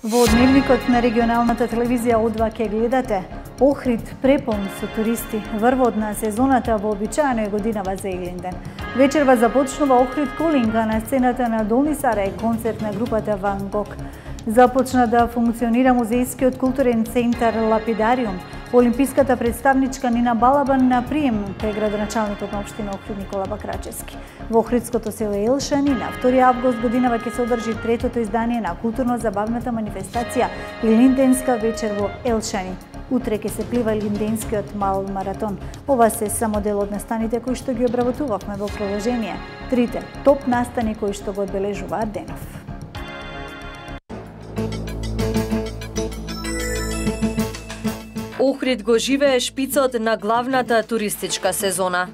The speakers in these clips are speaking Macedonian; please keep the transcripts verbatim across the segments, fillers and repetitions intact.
Во дневникот на регионалната телевизија О два ке гледате Охрид преполн со туристи, врвот на сезоната во обичаена годинава за Илинден. Вечерва започнува Охрид Колинг, а на сцената на Долни Сара е концерт на групата Ван Гог. Започна да функционира музејскиот културен центар Лапидариум. Олимписката представничка Нина Балабан на прием кај градоначалникот на општина Охрид Никола Бакрачевски. Во Охридското село Елшани на втори август годинава ќе се одржи третото издание на културно-забавната манифестација Илинденска вечер во Елшани. Утре ќе се плива Илинденскиот мал маратон. Ова се само дел од настаните кои што ги обработувавме во продолжение. Трите топ настани кои што го одбележуваат денов. Охрид го живее шпицот на главната туристичка сезона.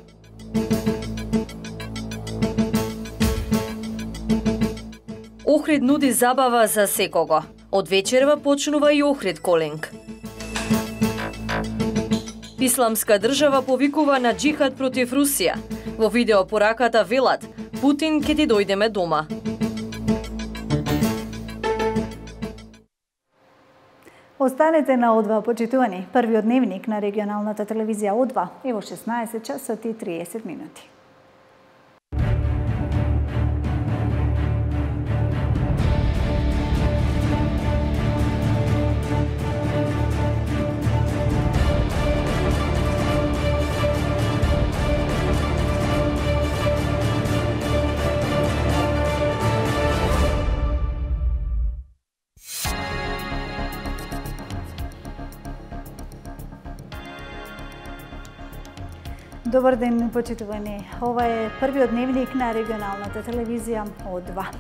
Охрид нуди забава за секого. Од вечерва почнува и Охрид Колинг. Исламска држава повикува на џихад против Русија. Во видеопораката велат: Путин ќе ти дојдеме дома. Останете на О два, почитувани. Првиот дневник на регионалната телевизија О два е во шеснаесет часот и триесет минути. Добар ден, почитувани. Ова е првиот дневник на регионалната телевизија О два.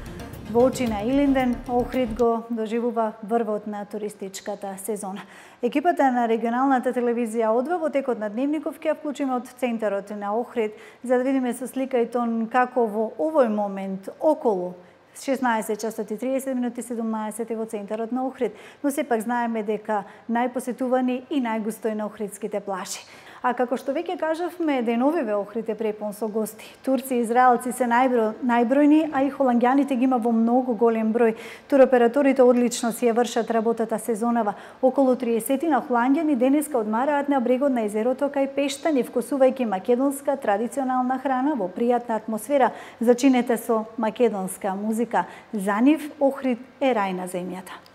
Во очи на Илинден, Охрид го доживува врвот на туристичката сезона. Екипата на регионалната телевизија О два во текот на дневников ќе вклучиме од центарот на Охрид за да видиме со слика и тон како во овој момент околу шеснаесет часот и триесет минути седумнаесет во центарот на Охрид, но сепак знаеме дека најпосетувани и најгустој на охридските плажи. А како што веќе кажавме, деновиве Охрид е препон со гости. Турци и израелци се најбро, најбројни, а и холанѓаните ги има во многу голем број. Туроператорите одлично си ја вршат работата сезонава. Околу триесет на холанѓани денеска одмараат на брегот на езерото кај Пештани, вкусувајќи македонска традиционална храна во пријатна атмосфера, зачинете со македонска музика. За нив Охрид е рај на земјата.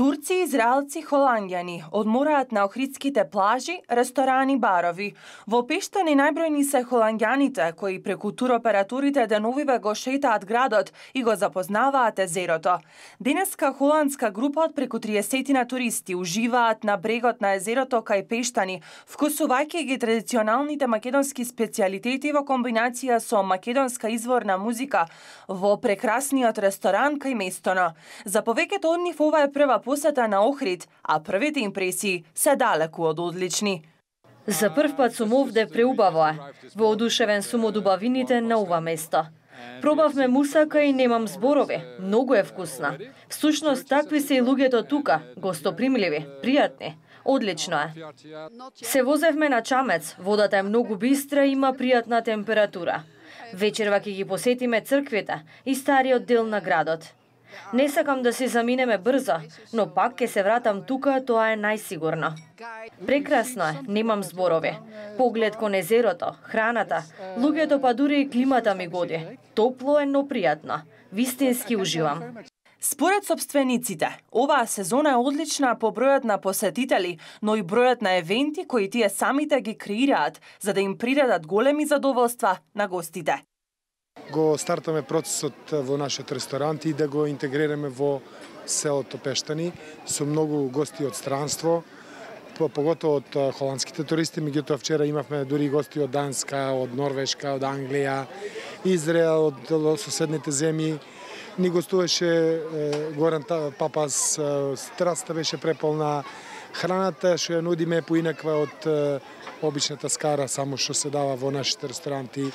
Турци, израелци, холанѓани одмораат на охридските плажи, ресторани, барови. Во Пештани најбројни се холанѓаните кои преку туроператорите деновиве го шетаат градот и го запознаваат езерото. Денеска холандска група од преку триесет на туристи уживаат на брегот на езерото кај Пештани, вкусувајќи ги традиционалните македонски специјалитети во комбинација со македонска изворна музика во прекрасниот ресторан кај Местоно. За повеќето од нив ова е прва посета на Охрид, а првите импресии се далеку од одлични. За прв пат сум овде преубаво е. Воодушевен сум од убавините на ова место. Пробавме мусака и немам зборови. Многу е вкусна. Всушност такви се и луѓето тука, гостопримливи, пријатни. Одлично е. Се возевме на Чамец, водата е многу бистра и има пријатна температура. Вечерва ќе ги посетиме црквите и стариот дел на градот. Не сакам да си заминеме брзо, но пак ќе се вратам тука, тоа е најсигурно. Прекрасно е, немам зборови. Поглед кон езерото, храната, луѓето па дури и климата ми годи. Топло е, но пријатно. Вистински уживам. Според собствениците, оваа сезона е одлична по бројот на посетители, но и бројот на евенти кои тие самите ги креираат, за да им придадат големи задоволства на гостите. Го стартаме процесот во нашиот ресторант и да го интегрираме во селото Пештани со многу гости од странство, поготово од холандските туристи. Меѓутоа вчера имавме дури гости од Данска, од Норвешка, од Англија, Израел, од соседните земји. Ни гостуваше Горан Папас, страста беше преполна, храната што ја нудиме поинаква од обичната скара, само што се дава во нашите ресторанти.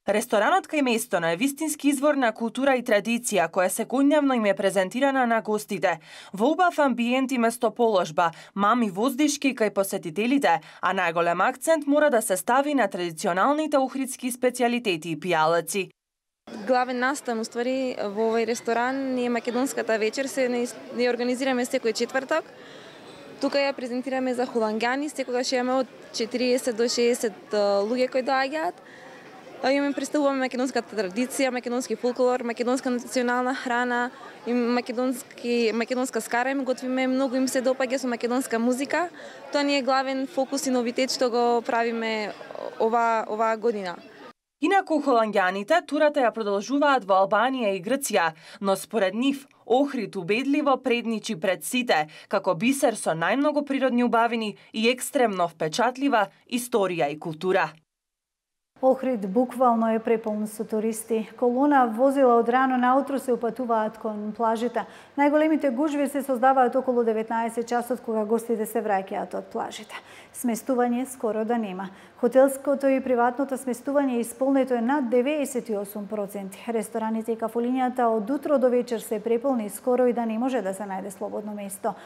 Ресторанот кај Местоно е вистински извор на култура и традиција која секојдневно им е презентирана на гостите. Во убав амбиент и местоположба, мами воздишки кај посетителите, а најголем акцент мора да се стави на традиционалните охридски специјалитети и пијалаци. Главен настан, уствари, во овој ресторан ние македонската вечер се не, не организираме секој четвртак. Тука ја презентираме за холанѓани, секогаш имаме од четириесет до шеесет луѓе кои доаѓаат. Имаме представуваме македонската традиција, македонски фолклор, македонска национална храна, и македонски македонска скара им готвиме, многу им се допаѓа со македонска музика. Тоа ни е главен фокус и новитет што го правиме ова оваа година. Инаку холанѓаните турата ја продолжуваат во Албанија и Грција, но според нив Охрид убедливо предничи пред сите, како бисер со најмногу природни убавини и екстремно впечатлива историја и култура. Охрид буквално е преполн со туристи. Колона возила од рано наутро се упатуваат кон плажите. Најголемите гужви се создаваат околу деветнаесет часот кога гостите се враќаат од плажите. Сместување скоро да нема. Хотелското и приватното сместување исполнето е над деветдесет и осум проценти. Рестораните и кафулињата од утро до вечер се преполни, скоро и да не може да се најде слободно место.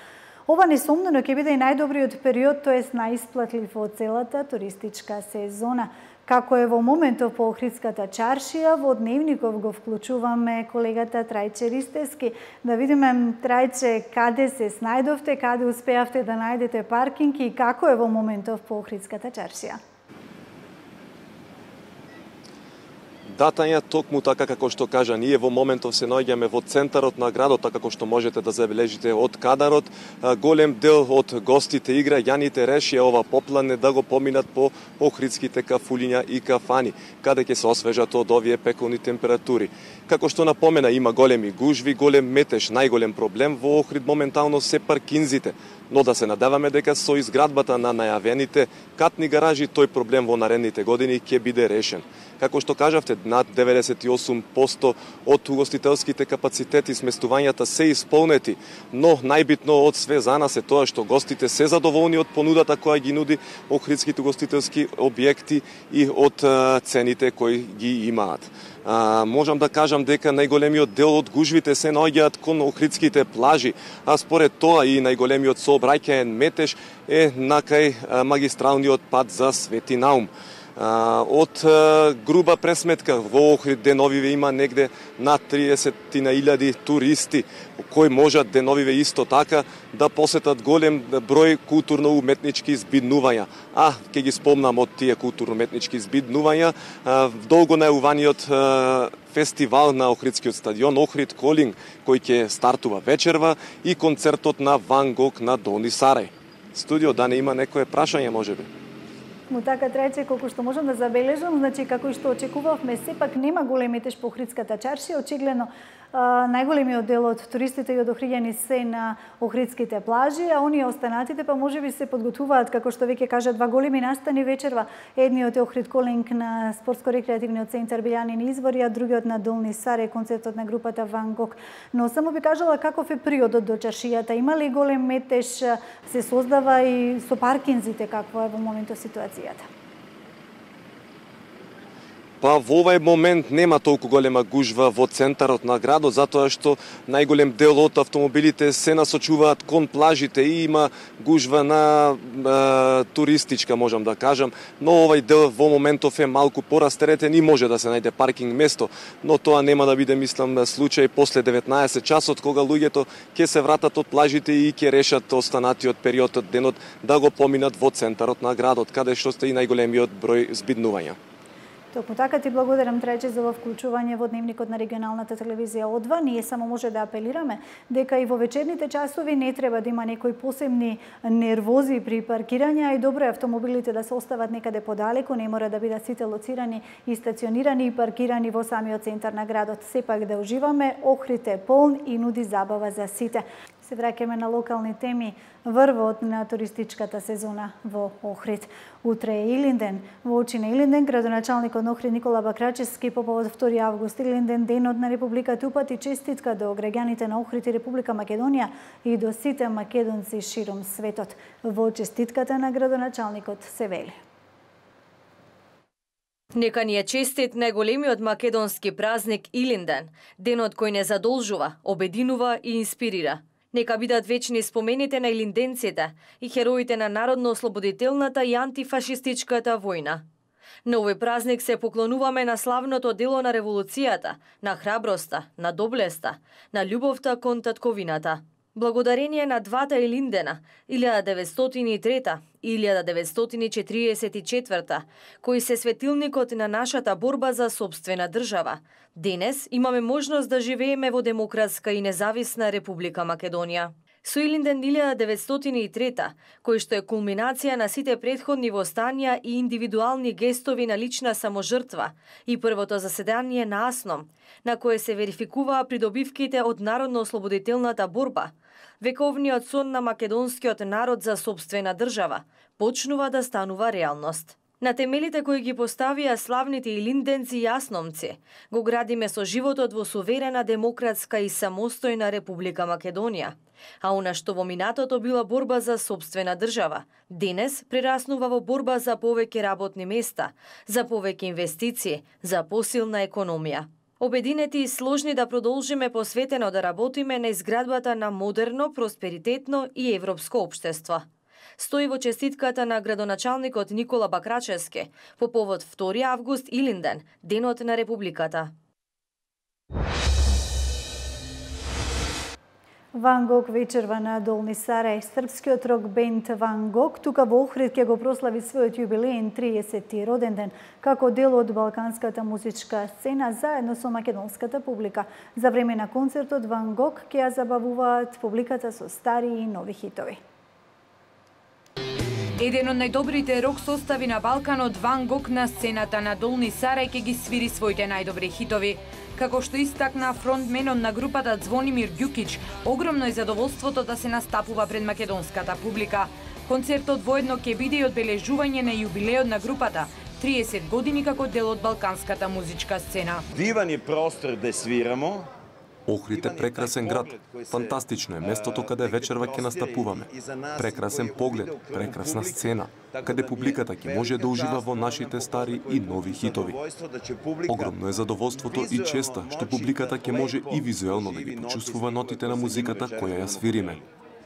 Ова несомнено ќе биде и најдобриот период, тоест најисплатлив од целата туристичка сезона. Како е во моментов по Охридската чаршија, во дневников го вклучуваме колегата Трајче Ристевски. Да видиме, Трајче, каде се снајдовте, каде успеавте да најдете паркинг и како е во моментов по Охридската чаршија? Да, Тања, токму така како што кажа, ние во моментов се наоѓаме во центарот на градот, така како што можете да забележите од кадарот. Голем дел од гостите и граѓаните решија ова поплане да го поминат по охридските кафулиња и кафани, каде ќе се освежат од овие пеколни температури. Како што напомена, има големи гужви, голем метеж, најголем проблем во Охрид моментално се паркинзите. Но да се надеваме дека со изградбата на најавените катни гаражи тој проблем во наредните години ќе биде решен. Како што кажавте, над деветдесет и осум проценти од угостителските капацитети сместувањата се исполнети, но најбитно од све за нас е тоа што гостите се задоволни од понудата која ги нуди охридските угостителски објекти и од цените кои ги имаат. А, можам да кажам дека најголемиот дел од гужвите се наоѓаат кон охридските плажи, а според тоа и најголемиот сообраќаен метеж е накај магистралниот пат за Свети Наум. Од груба пресметка во Охрид деновиве има негде над триесет илјади туристи кои можат деновиве исто така да посетат голем број културно-уметнички збиднувања. А, ќе ги спомнам од тие културно-уметнички збиднувања долго најуваниот фестивал на Охридскиот стадион Охрид Колинг, кој ќе стартува вечерва, и концертот на Ван Гог на Долни Сарај. Студио, да не има некое прашање можеби? Му така, Трајче, колку што можам да забележам, значи како и што очекувавме, сепак нема голем метеж по Охридската чаршија. Очигледно најголемиот дел од туристите и од охриѓани се на охридските плажи, а оние останатите па можеби се подготвуваат, како што веќе кажа, два големи настани вечерва. Едниот е Охрид Колинг на спортско-рекреативниот центар Билјанини извори, а другиот на Долни Сарај, концертот на групата Ван Гог. Но само би кажала каков е периодот до чаршијата. Има ли голем метеж, се создава и со паркинзите, каква е во моментот ситуацијата? Па во овај момент нема толку голема гужва во центарот на градот, затоа што најголем дел од автомобилите се насочуваат кон плажите и има гужва на е, туристичка, можам да кажам, но овај дел во моментов е малку порастеретен и може да се најде паркинг место, но тоа нема да биде, мислам, случај после деветнаесет часот, кога луѓето ќе се вратат од плажите и ќе решат останатиот период од денот да го поминат во центарот на градот, каде што сте и најголемиот број збиднувања. Токму така, ти благодарам, Трајче, за ова вклучување во дневникот на регионалната телевизија О два. Ние само може да апелираме дека и во вечерните часови не треба да има некои посебни нервози при паркирање, а и добро е автомобилите да се остават некаде подалеку, не мора да бидат сите лоцирани и стационирани и паркирани во самиот центар на градот. Сепак да уживаме, Охрид е полн и нуди забава за сите. Се враќаме на локални теми. Врвот на туристичката сезона во Охрид. Утре е Илинден. Во очи на Илинден, градоначалникот на Охрид Никола Бакрачевски по повод втори август Илинден, денот на Републиката, упати честитка до граѓаните на Охрид и Република Македонија и до сите македонци широм светот. Во честитката на градоначалникот се вели: Нека ни е честит најголемиот македонски празник Илинден, денот кој не задолжува, обединува и инспирира. Нека бидат вечни спомените на илинденците и хероите на народно-ослободителната и антифашистичката војна. На овој празник се поклонуваме на славното дело на револуцијата, на храброста, на доблеста, на љубовта кон татковината. Благодарение на двата Илиндена, илјада деветстотини и трета и илјада деветстотини четириесет и четврта, кои се светилникот на нашата борба за сопствена држава, денес имаме можност да живееме во демократска и независна Република Македонија. Со Илинден илјада деветстотини и трета, кој што е кулминација на сите претходни востанија и индивидуални гестови на лична саможртва, и првото заседание на АСНОМ, на кое се верификуваа придобивките од народно-ослободителната борба, вековниот сон на македонскиот народ за сопствена држава почнува да станува реалност. На темелите кои ги поставија славните илинденци и асномци, го градиме со животот во суверена, демократска и самостојна Република Македонија. А она што во минатото била борба за сопствена држава, денес прераснува во борба за повеќе работни места, за повеќе инвестиции, за посилна економија. Обединети и сложни да продолжиме посветено да работиме на изградбата на модерно, просперитетно и европско општество. Стои во честитката на градоначалникот Никола Бакрачевски по повод втори август Илинден, денот на Републиката. Ван Гог вечерва на Долни Сарај. Српскиот рок бенд Ван Гог тука во Охрид ќе го прослави својот јубилеен триесети роден ден како дел од балканската музичка сцена заедно со македонската публика. За време на концертот Ван Гог ќе ја забавуваат публиката со стари и нови хитови. Еден од најдобрите рок состави на Балканот, Ван Гог на сцената на Долни Сарај ќе ги свири своите најдобри хитови. Како што истакна фронтменот на групата Звонимир Ѓукич, огромно е задоволството да се настапува пред македонската публика. Концертот воедно ќе биде и одбележување на јубилеот на групата, триесет години како дел од балканската музичка сцена. Диван е простор да свирамо. Охрид е прекрасен град. Фантастично е местото каде вечерва ќе настапуваме. Прекрасен поглед, прекрасна сцена, каде публиката ќе може да ужива во нашите стари и нови хитови. Огромно е задоволството и честа што публиката ќе може и визуелно да ги почувствува нотите на музиката која ја свириме.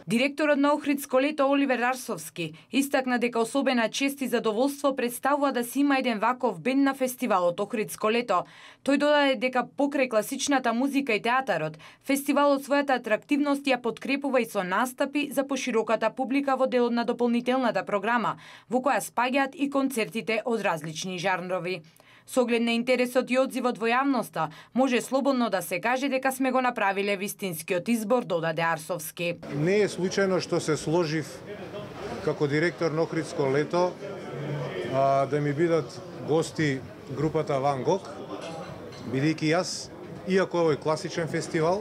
Директорот на Охридско лето Оливер Арсовски истакна дека особена чест и задоволство представува да си има еден ваков бенд на фестивалот Охридско лето. Тој додаде дека покрај класичната музика и театарот, фестивалот својата атрактивност ја подкрепува и со настапи за пошироката публика во делот на дополнителната програма, во која спаѓаат и концертите од различни жанрови. Со оглед на интересот и одзивот во јавноста, може слободно да се каже дека сме го направиле вистинскиот избор, додаде Арсовски. Не е случајно што се сложив како директор на Охридско лето а, да ми бидат гости групата Ван Гог, бидејќи јас, иако овој класичен фестивал,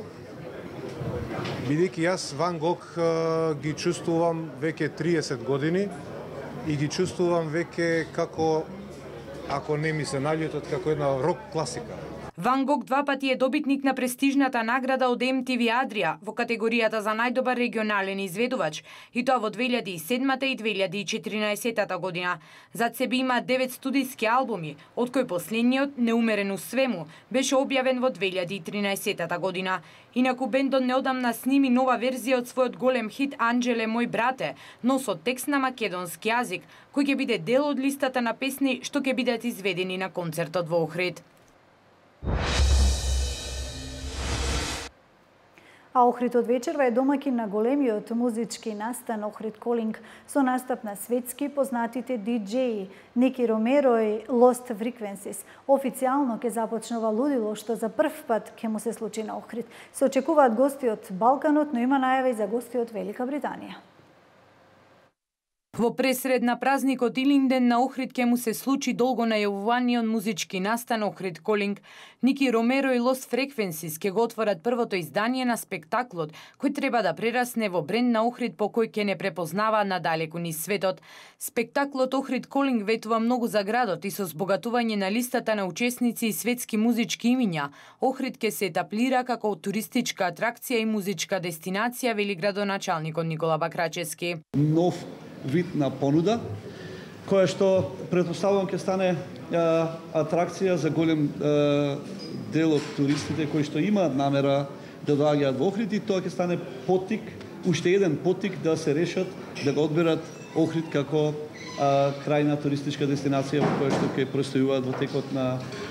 бидејќи јас Ван Гог а, ги чувствувам веќе триесет години и ги чувствувам веќе како, ако не ми се наљутат, како една рок класика. Ван Гог два пати е добитник на престижната награда од Ем Ти Ви Адрија во категоријата за најдобар регионален изведувач, и тоа во две илјади и седма и две илјади и четиринаесета година. Зад себе има девет студиски албуми, од кој последниот, Неумерено свему, беше објавен во две илјади и тринаесета година. Инаку бендот неодамна сними нова верзија од својот голем хит Анџеле мој брате, но со текст на македонски јазик, кој ќе биде дел од листата на песни што ќе бидат изведени на концертот во Охрид. А Охрид од вечерва е домакин на големиот музички настан Охрид Колинг со настап на светски познатите диџеи Ники Ромеро и Lost Frequencies. Официјално ќе започнува лудило што за прв пат ќе му се случи на Охрид. Се очекуваат гости од Балканот, но има најави за гости од Велика Британија. Во пресред на празникот Илинден на Охрид ќе му се случи долго најавуваниот музички настан Охрид Колинг. Ники Ромеро и Lost Frequencies ќе го отворат првото издание на спектаклот, кој треба да прерасне во бренд на Охрид по кој ќе не препознава надалеку низ светот. Спектаклот Охрид Колинг ветува многу за градот и со збогатување на листата на учесници и светски музички имиња. Охрид ќе се етаплира како туристичка атракција и музичка дестинација, вели градоначалникот Никола Бакрачевски. Нов вид на понуда, која што претпоставувам ќе стане е, атракција за голем е, дел од туристите кои што имаат намера да доаѓаат во Охрид, и тоа ќе стане поттик, уште еден поттик да се решат да го одберат Охрид како а, крајна туристичка дестинација во која што ќе престојуваат во текот на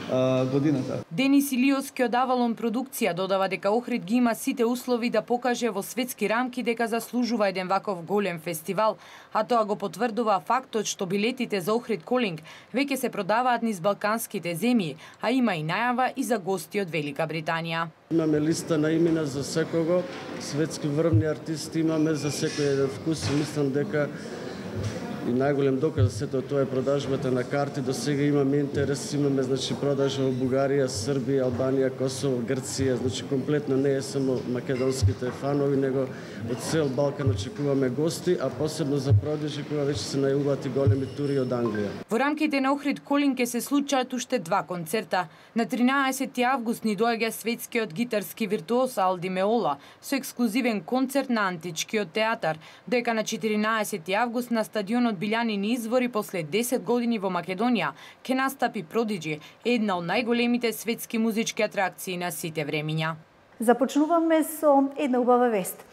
а, годината. Денис Илиовски од Авалон продукција додава дека Охрид ги има сите услови да покаже во светски рамки дека заслужува еден ваков голем фестивал, а тоа го потврдува фактот што билетите за Охрид Колинг веќе се продаваат низ балканските земји, а има и најава и за гости од Велика Британија. Имаме листа на имена за секого, светски врвни артисти имаме за секој еден вкус и мислам дека и најголем доказ за сето тоа е продажбата на карти. До сега имаме интерес, имаме значи продажба во Бугарија, Србија, Албанија, Косово, Грција, значи комплетно не е само македонските фанови, него од цел Балкан очекуваме гости, а посебно за продажи кога веќе се најавуваат и големи тури од Англија. Во рамките на Охрид Колинг ќе се случаат уште два концерта. На тринаесети август ни доаѓа светскиот гитарски виртуоз Алди Меола со ексклузивен концерт на Античкиот театар, дека на четиринаесети август на стадионот Билјанини извори после десет години во Македонија ќе настапи Продиджи, една од најголемите светски музички атракции на сите времиња. Започнуваме со една убава вест.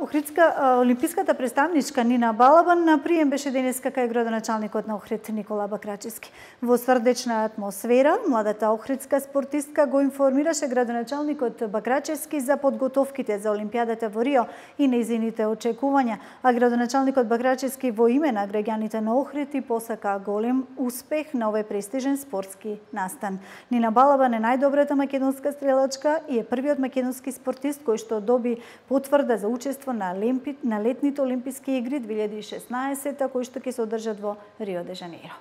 Охридска олимписката представничка Нина Балабан на прием беше денеска кај градоначалникот на Охрид Никола Бакрачевски. Во срдечна атмосфера, младата охридска спортистка го информираше градоначалникот Бакрачевски за подготовките за Олимпијадата во Рио и нејзините очекувања, а градоначалникот Бакрачевски во име на граѓаните на Охрид и посака голем успех на овој престижен спортски настан. Нина Балабан е најдобрата македонска стрелачка и е првиот македонски спортист кој што доби потврда за учество на, Олимпи... на летните Олимписки игри две илјади и шеснаесета, кои што ќе се одржат во Рио де Жанеиро.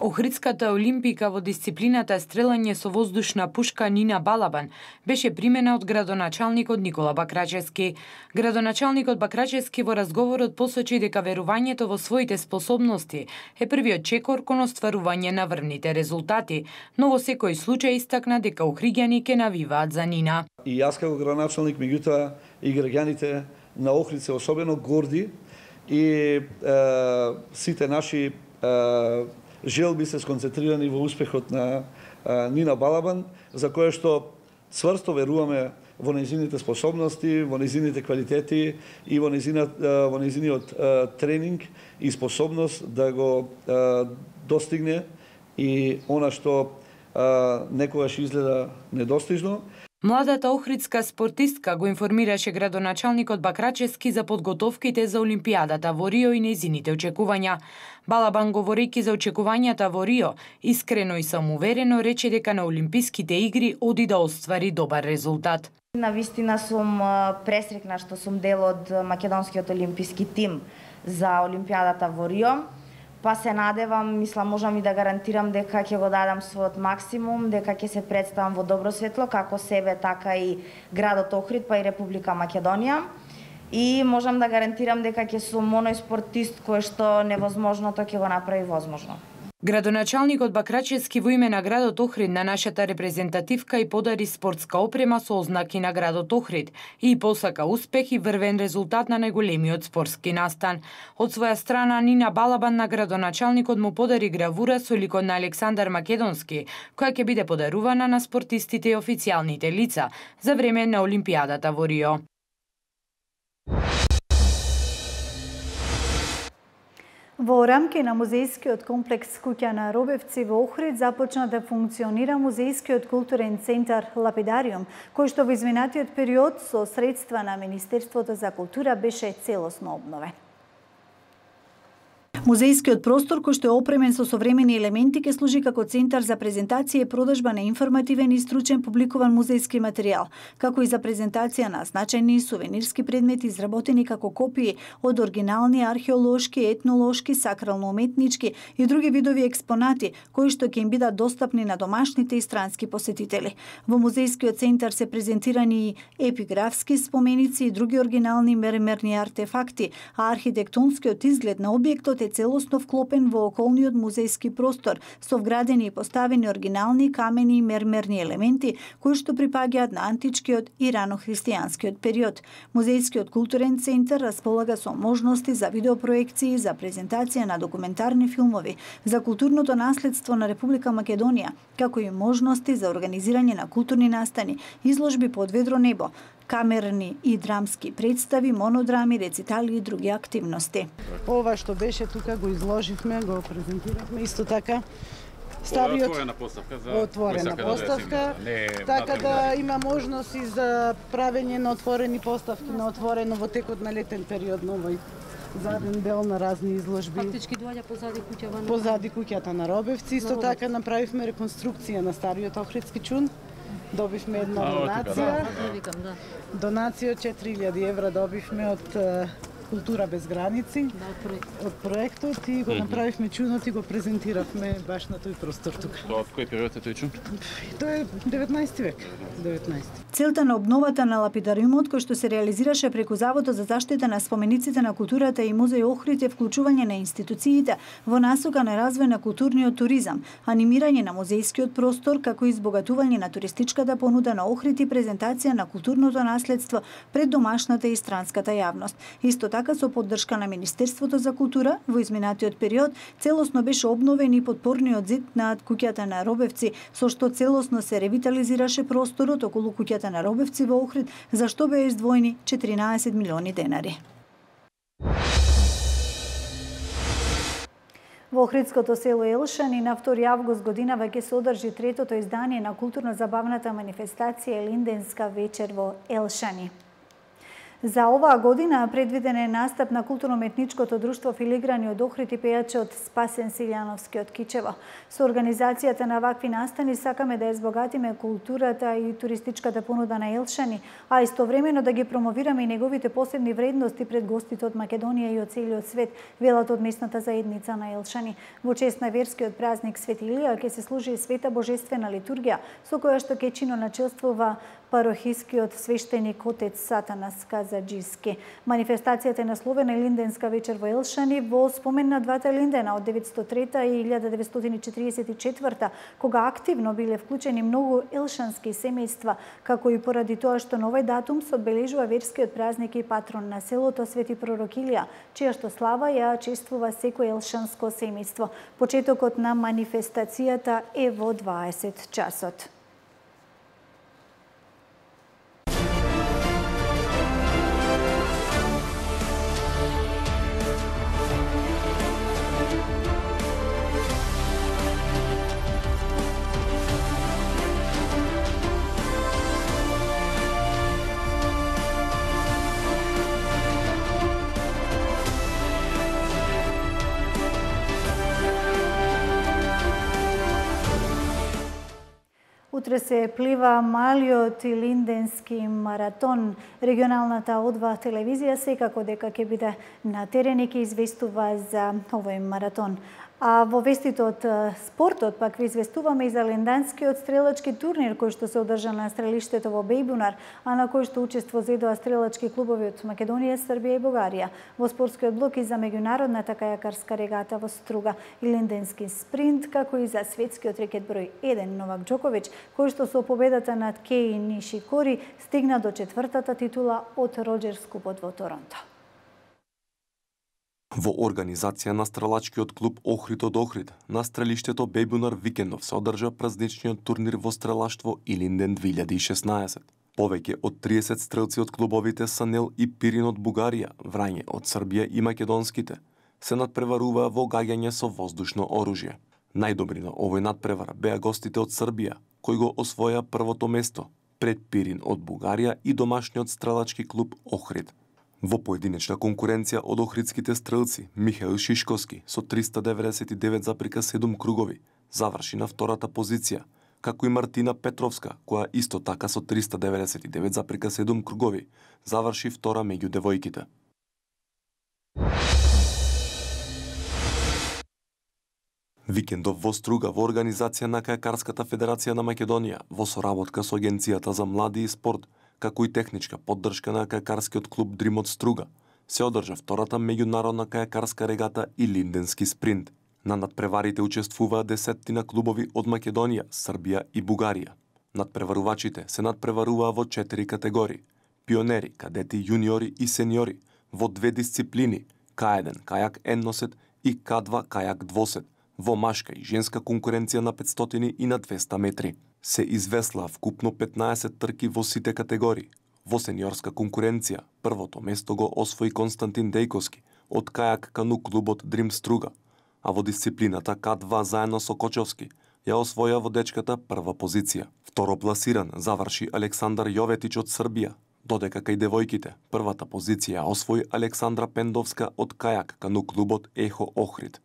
Охридската олимпика во дисциплината стрелање со воздушна пушка Нина Балабан беше примена од градоначалникот Никола Бакрачевски. Градоначалникот Бакрачевски во разговорот посочи дека верувањето во своите способности е првиот чекор кон остварување на врвните резултати, но во секој случај истакна дека охриѓани ќе навиваат за Нина. И јас како градоначалник, меѓутоа и граѓаните на Охрид се особено горди и е, сите наши е, желби се сконцентрирани во успехот на а, Нина Балабан, за која што цврсто веруваме во нејзините способности, во нејзините квалитети и во нејзиниот, во нејзиниот тренинг и способност да го а, достигне и она што а, некогаш изгледа недостижно. Младата охридска спортистка го информираше градоначалникот Бакрачевски за подготовките за Олимпијадата во Рио и нејзините очекувања. Балабан, говорејќи за очекувањата во Рио, искрено и самоуверено рече дека на Олимписките игри оди да оствари добар резултат. Навистина сум пресрекна што сум дел од македонскиот олимписки тим за Олимпијадата во Рио. Па се надевам, мислам, можам и да гарантирам дека ќе го дадам својот максимум, дека ќе се представам во добро светло, како себе, така и градот Охрид, па и Република Македонија. И можам да гарантирам дека ќе сум оној спортист кој што невозможното ќе го направи возможно. Градоначалникот Бакрачевски во име на градот Охрид на нашата репрезентативка и подари спортска опрема со ознаки на градот Охрид и посака успех и врвен резултат на најголемиот спортски настан. Од своја страна Нина Балабан на градоначалникот му подари гравура со ликот на Александар Македонски, која ќе биде подарувана на спортистите и официјалните лица за време на Олимпијадата во Рио. Во рамки на музејскиот комплекс Куќа на Робевци во Охрид започна да функционира музејскиот културен центар Лапидариум, кој што во изминатиот период со средства на Министерството за култура беше целосно обновен. Музејскиот простор, кој што е опремен со современи елементи, ќе служи како центар за презентација и продажба на информативен и стручен публикуван музејски материјал, како и за презентација на значајни сувенирски предмети изработени како копии од оригинални археолошки, етнолошки, сакрално-уметнички и други видови експонати, кои што ќе им бидат достапни на домашните и странски посетители. Во музејскиот центар се презентирани и епиграфски споменици и други оригинални мермерни артефакти, а архитектонскиот изглед на објектот е целосно вклопен во околниот музејски простор, со вградени и поставени оригинални камени и мермерни елементи, кои што припаѓаат на античкиот и рано-христијанскиот период. Музејскиот културен центар располага со можности за видеопроекции, за презентација на документарни филмови, за културното наследство на Република Македонија, како и можности за организирање на културни настани, изложби под ведро небо, камерни и драмски представи, монодрами, рецитали и други активности. Ова што беше тука го изложивме, го презентиравме исто така. Стариот отворена поставка за отворена поставка, да така да има можност и за правење на отворени поставки на отворено во текот на летен период на овој заден дел на разни изложби. Фактички доаѓа позади куќава на позади куќата на Робевци. Исто така направивме реконструкција на стариот Охридски чун. Добивме една донација. Донација од четири илјади евра добивме од Култура без граници, од проектот и го направивме чунот и го презентиравме баш на тој простор тука. Тоа од кој период е тој чун? Тој е деветнаесети век. деветнаесети. Целта на обновата на лапидариумот, кој што се реализираше преку Заводот за заштита на спомениците на културата и музеј Охрид, е вклучување на институциите во насока на развој на културниот туризам, анимирање на музејскиот простор, како и избогатување на туристичката понуда на Охрид и презентација на културното наследство пред домашната и странската јавност. Исто така со поддршка на Министерството за култура, во изминатиот период целосно беше обновен и подпорниот зид над куќата на Робевци, со што целосно се ревитализираше просторот околу куќата на Робевци во Охрид, за што беа издвоени четиринаесет милиони денари. Во Охридското село Елшани на втори август годинава ќе се одржи третото издание на културно-забавната манифестација Елинденска вечер во Елшани. За оваа година предвиден е настап на културно-уметничкото друштво Филиграни од Охрид и пејачот Спасен Силјановски од Кичево. Со организацијата на вакви настани сакаме да ја збогатиме културата и туристичката понуда на Елшани, а истовремено да ги промовираме и неговите посебни вредности пред гостите од Македонија и од целиот свет, велат од местната заедница на Елшани. Во чест на верскиот празник Свети Илија ќе се служи света божествена литургија, со која што ќе чино начелствува парохискиот свештеник отец Сатанас Казаджиски. Манифестацијата е насловена Елинденска вечер во Елшани во спомен на двата Елиндена од деветстотини и трета и илјада деветстотини четиридесет и четврта, кога активно биле вклучени многу елшански семејства, како и поради тоа што на овој датум се одбележува верскиот празник и патрон на селото Свети Пророк Илија, чија што слава ја чествува секој елшанско семејство. Почетокот на манифестацијата е во дваесет часот. Утре се плива малиот Илинденски маратон. Регионалната Одва телевизија секако дека ќе биде на терен и ќе известува за овој маратон. А во вестите од спортот пак ви известуваме и за ленданскиот стрелачки турнир кој што се одржа на стрелиштето во Бејбунар, а на кој што учество зедоа стрелачки клубови од Македонија, Србија и Бугарија. Во спортскиот блок и за меѓународната кајакарска регата во Струга, Илинденски спринт, како и за светскиот рекет број еден Новак Џоковиќ, кој што со победата над Кеј Нишикори стигна до четвртата титула од Роџерс Купот во Торонто. Во организација на стрелачкиот клуб Охрид од Охрид, на стрелиштето Бејбунар викендов се одржа празничниот турнир во стрелаштво Илинден две илјади и шеснаесет. Повеќе од триесет стрелци од клубовите Санел и Пирин од Бугарија, Врање од Србија и македонските се надпреваруваа во гаѓање со воздушно оружје. Најдобри на овој надпревар беа гостите од Србија, кои го освоја првото место пред Пирин од Бугарија и домашниот стрелачки клуб Охрид. Во поединечна конкуренција од охридските стрелци, Михаил Шишковски со триста деветдесет и девет запирка седум кругови заврши на втората позиција, како и Мартина Петровска, која исто така со триста деветдесет и девет запирка седум кругови заврши втора меѓу девојките. Викендов во Струга во организација на Кајакарската федерација на Македонија во соработка со Агенцијата за млади и спорт, како и техничка поддршка на кајакарскиот клуб Дрим од Струга, се одржа втората меѓународна кајакарска регата Илинденски спринт. На надпреварите учествуваа десеттина клубови од Македонија, Србија и Бугарија. Надпреварувачите се надпреваруваа во четири категории: пионери, кадети, јуниори и сениори, во две дисциплини: К еден кајак едносет и К два кајак двосет, во машка и женска конкуренција на петстотини и на двеста метри. Се извеслаа вкупно петнаесет трки во сите категории, Во сениорска конкуренција, првото место го освои Константин Дејковски од кајак кану клубот Дрим Струга, а во дисциплината К два заедно со Кочовски ја освоја водечката прва позиција. Второ пласиран заврши Александар Јоветич од Србија, додека кај девојките првата позиција освои Александра Пендовска од кајак кану клубот Ехо Охрид.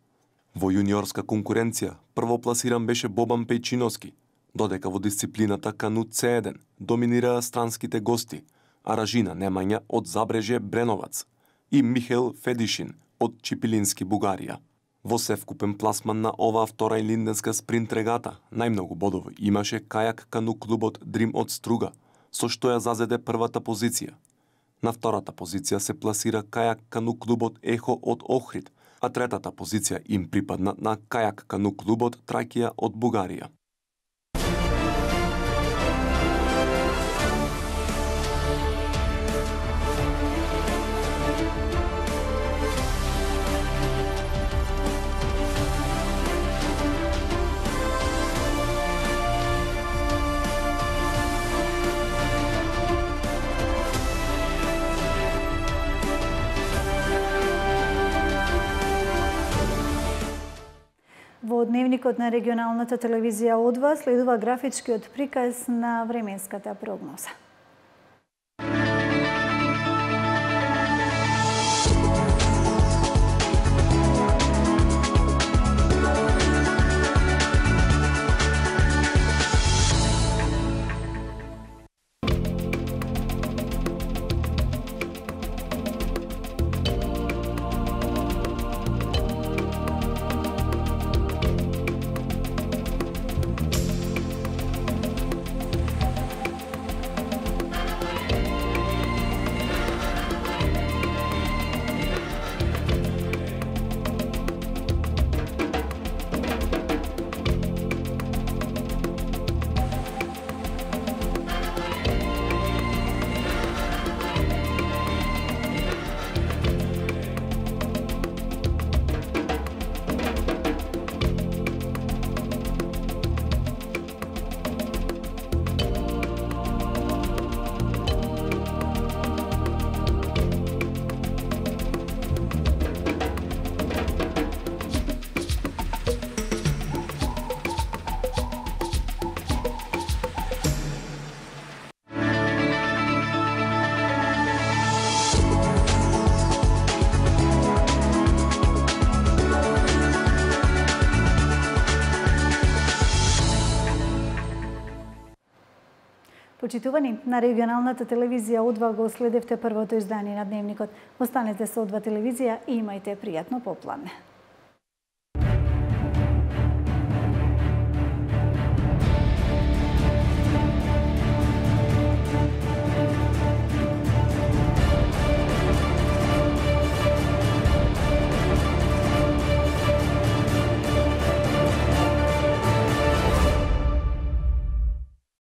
Во јуниорска конкуренција прво пласиран беше Бобан Пејчиновски, додека во дисциплината кану Це еден доминираа странските гости, Аражина Немања од Забрежје Бреновац и Михел Федишин од Чипилински Бугарија. Во севкупен пласман на оваа втора илинденска спринт регата најмногу бодови имаше кајак кану клубот Дрим од Струга, со што ја зазеде првата позиција. На втората позиција се пласира кајак кану клубот Ехо од Охрид, а третата позиција им припадна на кајак кану клубот Тракија од Бугарија. Во дневникот на регионалната телевизија Одва следува графичкиот приказ на временската прогноза. Почитувани, на регионалната телевизија Одва го следевте првото издание на Дневникот. Останете со Одва телевизија и имајте пријатно попладне.